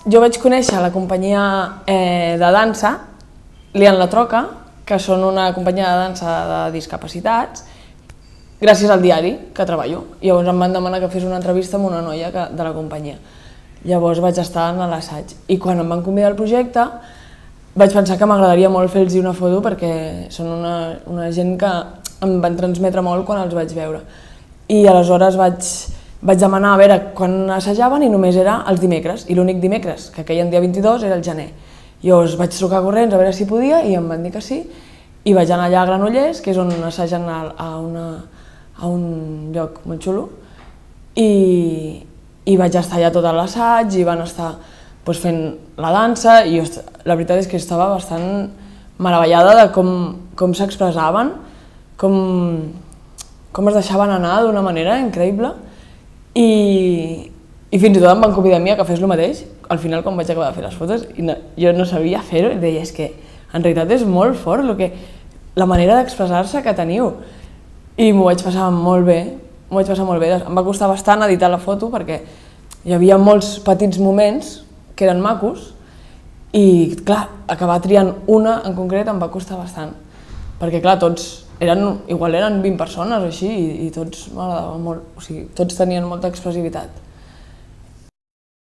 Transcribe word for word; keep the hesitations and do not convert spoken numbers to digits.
jo vaig conèixer la companyia eh, de dansa, Liant la Troca, que són una companyia de dansa de discapacitats, gràcies al diari que treballo. Llavors em van demanar que fes una entrevista amb una noia que, de la companyia. Llavors vaig estar en l'assaig. I quan em van convidar al projecte, vaig pensar que m'agradaria molt fer-los una foto perquè són una, una gent que em van transmetre molt quan els vaig veure. I aleshores vaig, vaig demanar a veure quan assajaven i només era els dimecres. I l'únic dimecres, que queien dia vint-i-dos, era el gener. Llavors vaig trucar corrents a veure si podia i em van dir que sí. I vaig anar allà a Granollers, que és on assagen a, a, una, a un lloc molt xulo. I, i vaig estar allà tot l'assaig i van estar doncs, fent la dansa i jo, la veritat és que estava bastant meravellada de com, com s'expressaven, com, com es deixaven anar d'una manera increïble i, i fins i tot em van convidar a mi a que fes el mateix al final quan vaig acabar de fer les fotos i no, jo no sabia fer-ho i deia és que en realitat és molt fort lo que, la manera d'expressar-se que teniu i m'ho vaig passar molt bé, m'ho vaig passar molt bé, em va costar bastant editar la foto perquè hi havia molts petits moments que eren macos i clar, acabar triant una en concret em va costar bastant perquè clar, tots eren, igual eren vint persones o així i, i tots m'agradava molt, o sigui, tots tenien molta expressivitat.